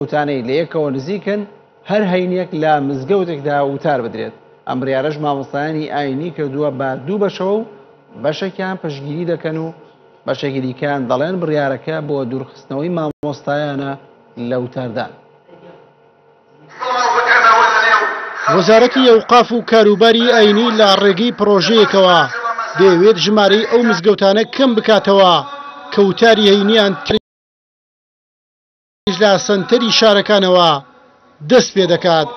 مزگەوتانەی لە یەکەوە نزیکن هەر هەینیەک لە مزگەوتێکدا وتار بدرێت، ئەم بڕیارەش مامۆستایانی ئاینی کردووە بە دوو بەشەوە و بەشێکیان پشتگیری دەکەن و بەشێکی دیکەیان دەڵێن بڕیارەکە بۆ دوورخستنەوەی مامۆستایانە لە وتاردان. وەزارەتی ئەوقاف و کاروباری ئاینی لە ڕێگەی پڕۆژەیەکەوە دەیەوێت ژمارەی ئەو مزگەوتانە کەم بکاتەوە کە وتاری هەینیان لە سەنتەری شارەکانەوە دەست پێدەکات.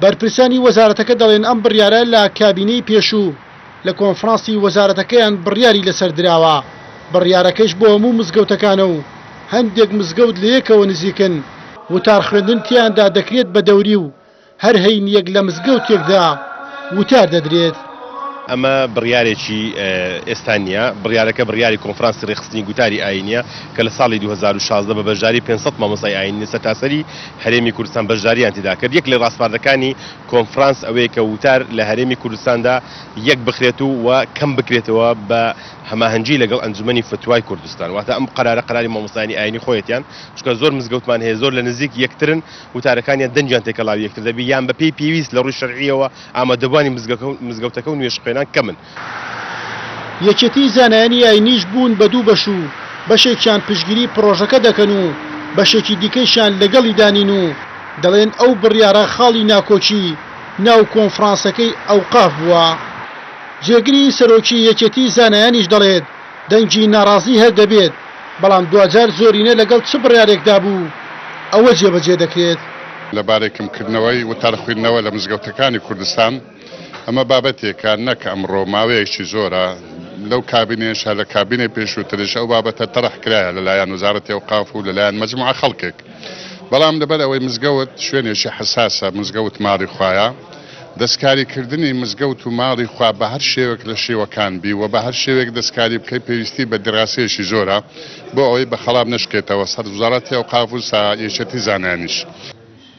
بەرپرسانی وەزارەتەکە دەڵێن ئەم بڕیارە لە کابینەی پێشوو لە کۆنفرانسی وەزارەتەکەیان بڕیاری لەسەر دراوە، بڕیارەکەش بۆ هەموو مزگەوتەکانە و هەندێک مزگەوت لەیەکەوە نزیکن، وتار خوێندن تیایاندا دەکرێت بە دەوری و هەر هەینییەک لە مزگەوتێکدا وتار دەدرێت. ئەمە بڕیارێکی ئێستا نییە، بڕیارەکە بڕیاری کۆنفرانسی ڕێکخستنی گوتاری ئایینییە کە لە ساڵی 2016 بە بەشداری 500 مامۆستای ئایینی لە سەرتاسەری هەرێمی کوردستان بەشدارییان تێدا کرد. یەک لە ڕاسپاردەکانی کۆنفرانس ئەوەیە کە وتار لە هەرێمی کوردستاندا یەک بخرێت و و کەم بکرێتەوە بە هەماهەنگی لەگەڵ ئەنجومەنی فتوای کوردستان. واتە ئەم قەرارە قەراری مامۆستایانی ئایینی خۆیەتیان، چونکە زۆر مزگەوتمان هەیە زۆر لە نزیک یەکترن، وتارەکانیان دەنگیان تێکەڵاوی یەکتر دەبی یان بەپێی پێویست لە ڕووی شەرعییەوە ئامادەبووانی مزگەوتەکە و نوێژخوێنان کەمن. یەکێتی زانایانی ئاینیش بوون بە دوو بەش و بەشێکیان پشتگیری پڕۆژەکە دەکەن و بەشێکی دیکەیشیان لەگەڵیدا نین و دەڵێن ئەو بڕیارە خاڵی ناکۆکی ناو کۆنفرانسەکەی ئەوقاف بووە. جێگری سەرۆکی یەکێتی زانایانیش دەڵێت، دەنگی ناڕازی هەر دەبێت، بەڵام دواجار زۆرینە لەگەڵ چ بڕیارێکدا بوو ئەوە جێبەجێ دەکرێت. لەبارەی کەمکردنەوەی وتار خویندنەوە لە مزگەوتەکانی کوردستان، ئەمە بابەتێکە نەک ئەمڕۆ، ماوەیەکی زۆرە لەو کابینەیەش هەر لە کابینەی پێشووتریش ئەو بابەتە تەرح کرایە لەلایەن وەزارەتی ئەوقاف و لەلایەن مەجموعە خەڵکێک، بەڵام لەبەر ئەوەی مزگەوت شوێنێکی حەساسە، مزگەوت ماڵی خوایە، دەستکاری کردنی مزگەوت و ماڵی خوا بە هەر شێوەک لە شێوەکان بی و بە هەر شێوەیەک دەستکاری بکەی پێویستی بە دیراسەیەکی زۆرە بۆ ئەوەی بە خەڵاب نەشکێتەوە سەر وزاڕەتی ئەوقاف و سا یەکێتی زانایانیش.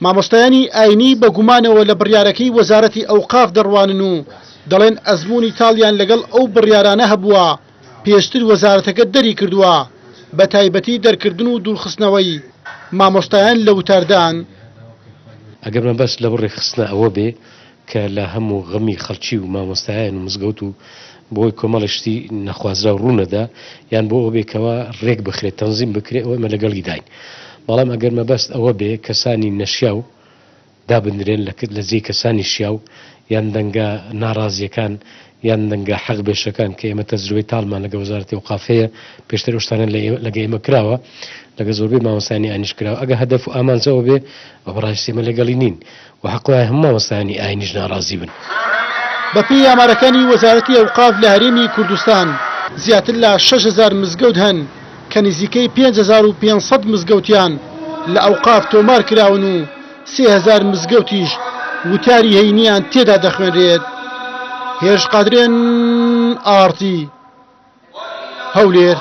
مامۆستایانی ئاینی بە گومانەوە لە بڕیارەکەی وەزارەتی ئەوقاف دەڕوانن و دەڵێن ئەزموونی تاڵیان لەگەڵ ئەو بڕیارانە هەبووە پێشتر وەزارەتەکە دەریکردووە، بەتایبەتی دەرکردن و دوورخستنەوەی مامۆستایان لە وتاردان. ئەگەر مەبەست لەو ڕێکخستنە ئەوە بێ کە لە هەموو غەمی خەڵکی و مامۆستایان و مزگەوت و بۆی کۆمەڵێ شتی نەخوازراو ڕوو نەدا یان بۆ ئەوە بێ کەوا ڕێک بخرێ تەنزیم بکرێ ئەوە ئێمە لەگەڵی داین بەڵام ئەگەر مەبەست ئەوە بێ کەسانی نەشیاو دابنرێن لە لە جێی کەسانی شیاو یان دەنگە ناڕازییەکان یان دەنگە حەق بێشەکان کە ئێمە تەجروبەی تاڵمان لەگە وەزارەتی ئەوقاف هەیە پێشتر ئەو شتانە لە لەگە ئێمە کراوە لەگە زۆربەی مامۆستایانی ئاینیش کراوە ئەگە هەدەف و ئامانج ئەوە بێ ئەوە بەڕاستی ئێمە لەگەڵی نین و حەق وایە هەموو مامۆستایانی ئاینیش ناڕازی بن. بەپێی ئامارەکانی وەزارەتی ئەوقاف لە هەرێمی کوردستان زیاتر لە 6000 مزگەوت هەن کە نزیکەی 5500 مزگەوتیان لە ئەوقاف تۆمار کراون و 3000 مزگەوتیش وتاری هەینیان تێدا دەخوێنرێت. هێرش قادرێن، ئاڕ تی، هەولێر.